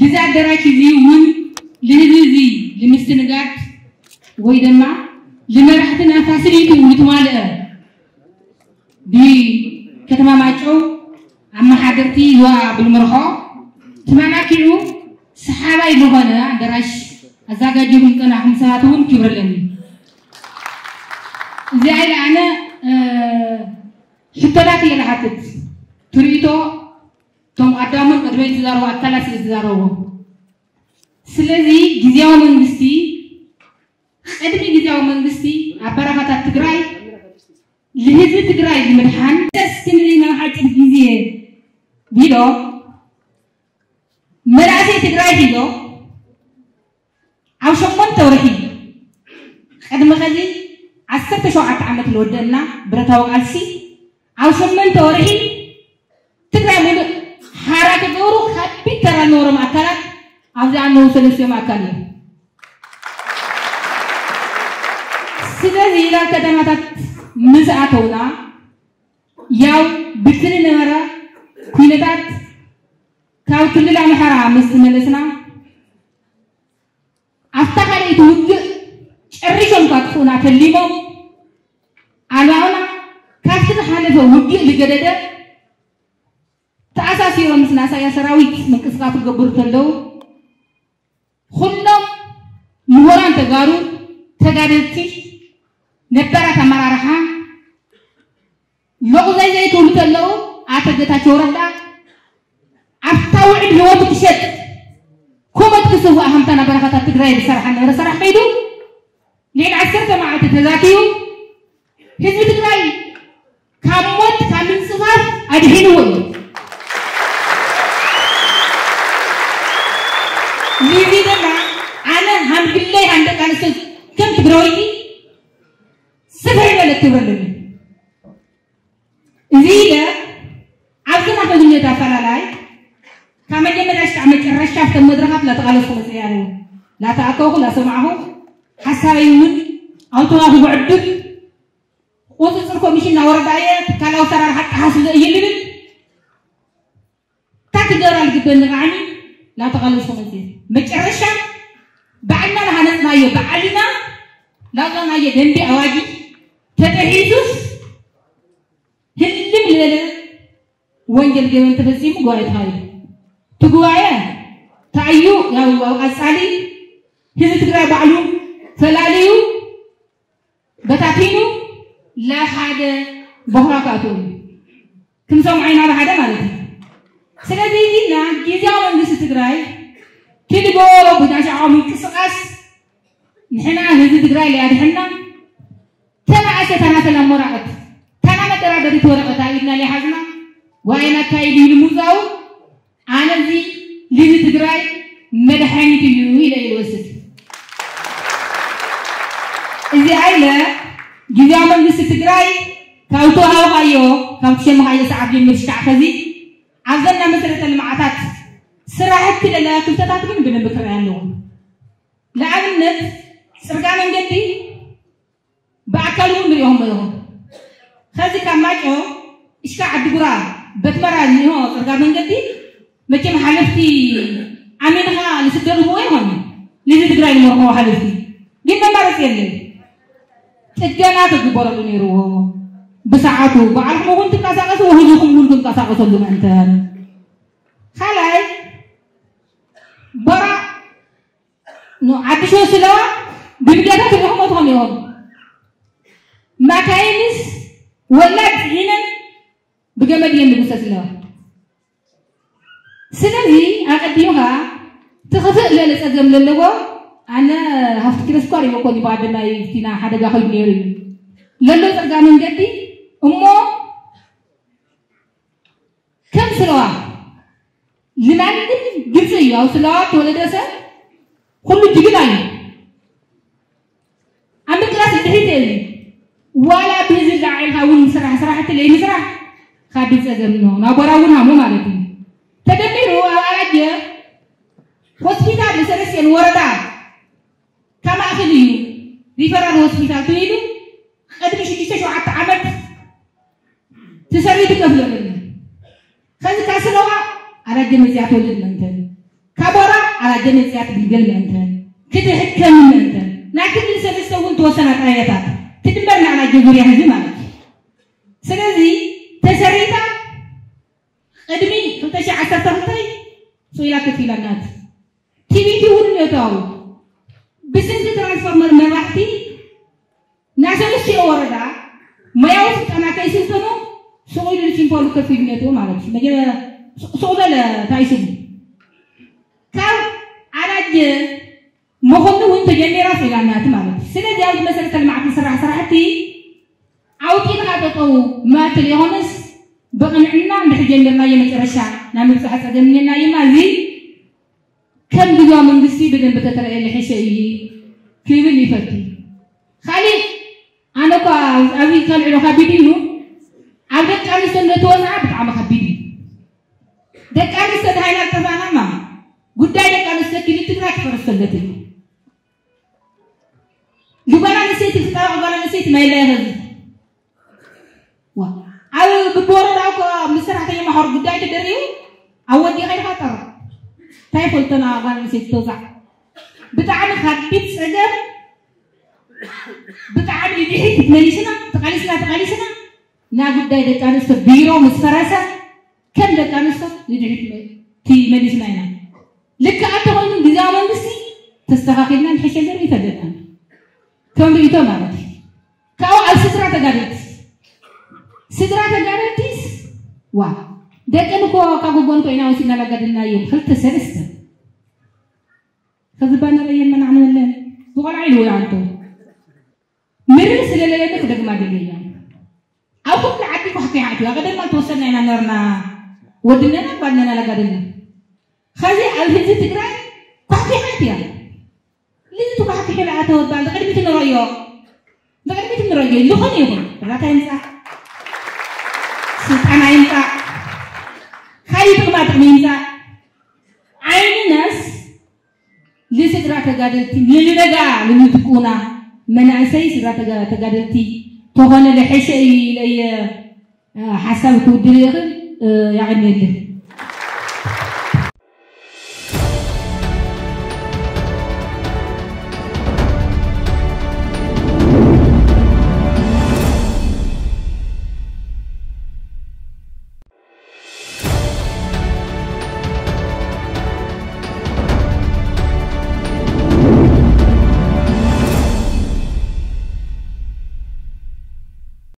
ልዚ ኣደራሽ እዚ እውን ልህዝቢ እዚ ልምስትንጋድ ወይ ድማ ልመራሕትና ፋሲሊቲ ልትማልአ ብከተማ ማይጨው ኣመሓደርቲ ይዋ ብልምርሖ ተመላኪዑ ሰሓባይ ዝኾነ ኣደራሽ ኣዘጋጅኹም ጸናኹም ሰባት እውን ክብረለኒ። እዚኣ ኢለ ኣነ ሕቶታት እየ ዝሓትት። ትርኢቶ እቶም ኣዳሙን ቅድመይ ዝዛረቡ ኣካላት ስለ ዝዛረቡ፣ ስለዚ ግዝያዊ መንግስቲ ቅድሚ ግዝያዊ መንግስቲ ኣብ በረኻታት ትግራይ ልህዝቢ ትግራይ ንምድሓን ደስ ክንልና ሓጭር ግዜ ቢሎ መናእሰይ ትግራይ ሒዞ ኣብ ሸሞንተ ወርሒ ቅድሚ ኸዚ ዓሰርተ ሸውዓተ ዓመት ዝወደእና ብረታዊ ቃልሲ ኣብ ሸሞንተ ወርሒ ትግራይ ሙሉእ ሓራ ክገብሩ ከቢድ ተራ ዝነበሮም ኣካላት ኣብዚ ኣለዉ ሰለስቲኦም ኣካል እዮም። ስለዚ ናብ ከተማታት ምስ ኣተውና ያው ብትኒ ነበረ ኩነታት ካብ ክልል ኣምሓራ ምስ ተመለስና ኣብታ ካልኣይቲ ውግእ ጨሪሾም ካጥፉና ተሊሞም ኣልባውና ካብቲ ዝሓለፈ ውግእ ዝገደደ ተኣሳሲሮም ምስ ናሳያ ሰራዊት ምንቅስቃስ ክገብሩ ከለዉ ኩሎም ምሁራን ተጋሩ ተጋደልቲ ነባራት ኣመራርሓ ሎቕዘይ ዘይክብሉ ከለዉ ኣቶ ጌታቸው ረዳ ኣብታ ውዕል ህይወቱ ክሸጥ ኮመት ክስዋእ ሃምታ ናብ በረኻታት ትግራይ ዝሰርሓ ነበረ ሰራሕ ከይዱ ልዕሊ ዓሰርተ መዓልቲ ተዛትዩ ህዝቢ ትግራይ ካብ ሞት ካብ ምንፅፋፍ ኣድሒንዎ እዩ። ንዚ ድማ ኣነ ሃምግለይ ሃንደቃንስት ከም ትግራወይቲ ስፍሕ ዝበለ ክብሪ ኣለኒ። እዚ ኢለ ኣብዚ ናተግነት ኣፈላላይ ካብ መጀመርያ እስካዕ መጨረሻ ኣብተን መድረኻት ላተቓለስኩ መፅእ ኣለዉ ላተኣከብኩ ላሰማዕኹ ሓሳበይ እውን ኣውቶማቲ ብዕድል ቁፅፅር ኮሚሽን ናወረዳ እየ ትካላዊ ሰራርሓ ኣጠሓስለ እየ ልብል እታ ክገብራ ዝግበኒ ቃዕሚ ላተቓለስኩ መፅእ መጨረሻ ባዕልና ናሃነፅናዮ ባዕልና ላውፃናዮ ደንቢ ኣዋጅ ተጠሒሱስ ህልም ዝበለ ወንጀል ገበን ተፈፂሙ ጉባኤ ተኻይዱ። እቲ ጉባኤ ታዩ ያው ኣብ ቀፃሊ ህዝቢ ትግራይ ባዕሉ ፈላልዩ በታቲኑ ለሓደ ቦኽራ ክኣትዎ እዩ። ክንሰምዖ ኢና ብሓደ ማለት እዩ። ስለዚ እዚና ግዝያዊ መንግስቲ ትግራይ ትልገበሮ ብናሻዖ ምንቅስቃስ ንሕና ህዝቢ ትግራይ ለያድሕና ተናእሰ ታናተላ ሞራቐት ታና መደራደሪት ወረቐት ኣብ ኢድና ለይሓዝና ዋይና ኣካይድ ኢሉ ምውዛኡ ኣነ እዚ ልዚ ትግራይ መድሓኒት እዩ ኢለ ይወስድ። እዚ ኣይለ ግዝያዊ መንግስቲ ትግራይ ካብ ተዋሃብካዮ ካብ ትሸምኻዮ ሰዓት ጀምር ሽካዕ ከዚ ኣብዘና መሰረተ ልምዓታት ስራሕቲ ለለያ ክፍተታት ግን ብደንብ ክረኣ ኣለዎ። ንኣብነት ፅርጋ መንገዲ ብኣካል እውን ንሪኦም ኣለኹም። ከዚ ካብ ማይጨው እሽካ ዓዲጉራ በትመራ ዝኒሆ ፅርጋ መንገዲ መቸም ሓለፍቲ ኣሚንኻ ዝስደዱ እኮ ይኾኑ ልዚ ትግራይ ዝመርኸቡ ሓለፍቲ ግን መማረፂ የለን። ጥገና ክግበረሉ ነይርዎ ብሰዓቱ ባዕልኩም እውን ትንቀሳቀሱ ህዝብኩም እውን ክንቀሳቀሰሉ ምእንተን ካልኣይ በራ ዓዲ ሽወ ስለዋ ብሚድያታት ሪኢኹሞ ትኾኑ ኢኹም። ማካይንስ ወላድ ሒነን ብገመድ እየን ዝጉሰ ስለዋ። ስለዚ ኣቐዲምኻ ትኽፍእ ዝበለ ጸገም ዘለዎ ኣነ ሃፍቲ ኪሎ ስኳር ይመኮኒ ብኣደናይ ፊና ሓደጋ ኮይኑ ነይሩ እዩ ለሎ ጸጋ መንገዲ እሞ ከም ስለዋ ንማንም ግልፂ እዩ ኣብ ስለዋ ተወለደ ሰብ ኩሉ ጅግና እዩ ኣብ ምቅላስ ድሕሪት የለ ዋላ ብህዝቢ ዳዓ ኢልካ እውን ስራሕ ስራሕቲ ለይምስራሕ ካብ ጸገም ነው ናቦራ እውን ሃሞ ማለት እዩ ተደሚሩ ኣብ ኣራጀ ሆስፒታል ንሰለስቴን ወረዳ ካብ ማእኸል እዩ ሪፈራል ሆስፒታል ትይሉ ቅድሚ ሽዱሽተ ሸውዓተ ዓመት ትሰሪ ትከፍለሉ ከዚ ካስለዋ ኣጀ መፅያ ትወልድ ምእንተን፣ ካቦራ ኣላጀ መፅያ ትግልገል ምእንተን፣ ክትሕከም ምእንተን፣ ናይ ክልል ሰለስተ እውን ተወሰና ጣብያታት ትድመር ንኣላጀ ዙርያ ህዝቢ ማለት እዩ። ስለዚ ተሰሪታ ቅድሚ ክልተ ሺሕ ዓሰርተ ክልተ ስኢላ ከፊላናት። ቲቪቲ እውን ነታው ብስንኪ ትራንስፎርመር መራሕቲ ናይ ሰለስቲኦ ወረዳ ሞያዊ ስልጠና ከይስልጠኑ ስቕ ኢሉ ሲምፖሉ ከፊሉ ነትዎ ማለት እዩ። መጀመ-፣ ስቕ ስቕ በለ እንታይ ስሙ ካብ ኣላጀ መኾኒ እውን ተጀሚራ ስኢላናት ማለት እዩ። ስለዚ ኣብዚ መሰረተ ልምዓት ዝስራሕ ስራሕቲ ኣውፂእኻ ጠጠው ማትል የኾነስ ብቕንዕና እንድሕር ጀሚርናዮ መጨረሻ ናይ ምብፃሕ ፀገም እኒአና እዩና። እዚ ከም ግዝያዊ መንግስቲ ብደንብ ተተረእየለ ሕሸ እዩ ክብል ይፈቱ። ካሊእ ኣነ እኳ ኣብዚ ከልዕሎ ከቢድ እዩ፣ ኣብ ደቂ ኣንስትዮ እንተወፅዓ ብጣዕሚ ከቢድ እዩ። ደቂ ኣንስትዮ ድሃይና ዝጠፋእና እማ ጉዳይ ደቂ ኣንስትዮ ክልል ትግራይ ክፈርስ ሰለት እዩ። ንጓል ኣንስተይቲ ክጣበቕ ጓል ኣንስተይቲ ማይላ ይኸዚ ዋ ኣብ ብብወረዳ እኮ ምስ ሰራሕተኛ ማሕበር ጉዳይ ተደሪቡ ኣብ ወዲ ከይድካ ጠርቕ እንታይ ፈልጠና ጓል ኣንስተይቲ ተውዛዕ ብጣዕሚ ከቢድ ፀገም ብጣዕሚ ድሕሪት መሊስና ተቃሊስና ተቃሊስና ናይ ጉዳይ ደቂ ኣንስትዮ ቢሮ ምስ ፈረሰ ከም ደቂ ኣንስትዮ ንድሕሪት መ- ቲ መሊስና ኢና። ልክዕ እንተኾይኑ ግዝያዊ መንግስቲ ተስተኻኺልና ንሕሸ ገር ይተገድና ከም ርእይቶ ማለት እዩ። ካብኡ ኣብ ስድራ ተጋደልቲ ስድራ ተጋደልቲስ ዋ ደቀን እኮ ካብ ጎጎን ኮይና ወሲድና ላጋደልና እዮም ክልተ ሰለስተ ከዚ ባነር እየን መናዕ ንበለን ዝቆልዓ ኢልዎ ይዓንቶ ምርር ስለለለኒ ክደግማ ደልየ እያ ኣብ ኩሉ ዓዲ ኳሕኪሓ ኣትዋ ቀደማ ተወሰና ኢና ነርና ወድነና ጓድነና ላጋደልና ኸዚ ኣብ ህዝቢ ትግራይ ኳሕኪሓ ኣትያ ልዚ ተኳሕኪሑ ለኣተወ ባል ንቅድሚት ንረዮ ንቅድሚት ንረዮ ዝኾነ ይኹን እርዳታ ይምፃእ ስልጣና ይምፃእ ካሊእ ጥቅማ ጥቅሚ ይምፃእ ዓይንናስ ንስድራ ተጋደልቲ ንልነጋ ንንትቁና መናእሰይ ስድራ ተጋ- ተጋደልቲ ተኾነ ለሐሸ እዩ ኢለየ ሓሳብ ክውድል ይኽእል ያቀንየልን